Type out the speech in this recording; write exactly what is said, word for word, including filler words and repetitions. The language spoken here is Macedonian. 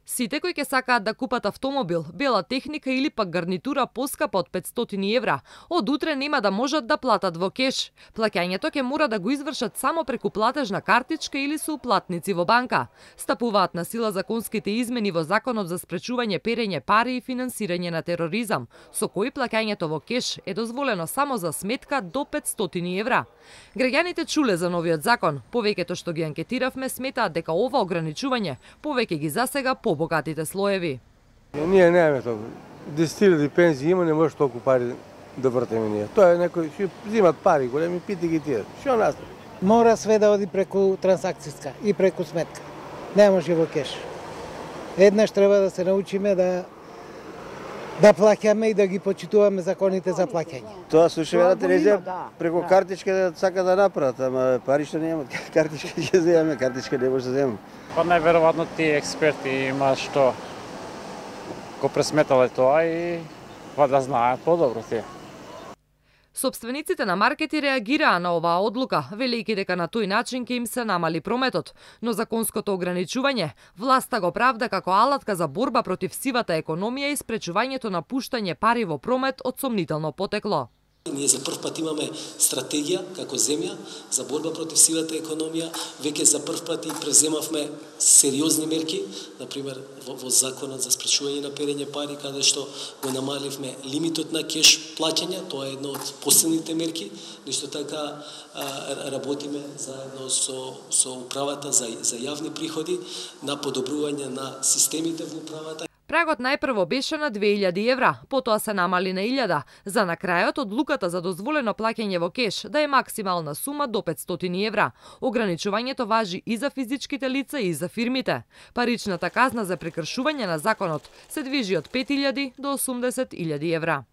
Сите кои ќе сакаат да купат автомобил, бела техника или пак гарнитура поскапа од петстотини евра, од утре нема да можат да платат во кеш. Плаќањето ќе мора да го извршат само преку платежна картичка или со уплатници во банка. Стапуваат на сила законските измени во Законот за спречување перење пари и финансирање на тероризам, со кои плаќањето во кеш е дозволено само за сметка до петстотини евра. Граѓаните чуле за новиот закон, повеќето што ги анкетиравме сметаат дека ова ограничување повеќе ги засега побогатите слоеви. Ние немаме толку. десет илјади пензии има, не може толку пари да вртеме ние. Тоа е некои што взимат пари, големи пити ги тие. Што нас? Мора све да оди преку трансакцијска и преку сметка. Не може во кеш. Еднаш треба да се научиме да да плаќаме и да ги почитуваме законите за плаќање. Тоа слушаме на телевизија преку картичка да сака да направат, ама пари што немат, картичка ќе земеме, картичка не може да земеме. Па најверојатно тие експерти има што го пресметале тоа и па да знаат подобро тие. Собствениците на маркети реагираа на оваа одлука, велејќи дека на тој начин ќе им се намали прометот, но законското ограничување власта го правда како алатка за борба против сивата економија и спречувањето на пуштање пари во промет од сомнително потекло. Ние за прв пат имаме стратегија како земја за борба против сивата економија. Веќе за прв пат и преземавме сериозни мерки, например во, во законот за спречување на перење пари, каде што го намаливме лимитот на кеш плаќања, тоа е едно од последните мерки. Нешто така а, работиме заедно со со управата за за јавни приходи на подобрување на системите во управата. Прагот најпрво беше на две илјади евра, потоа се намали на илјада, за на крајот одлуката за дозволено плаќање во кеш да е максимална сума до петстотини евра. Ограничувањето важи и за физичките лица и за фирмите. Паричната казна за прекршување на законот се движи од пет илјади до осумдесет илјади евра.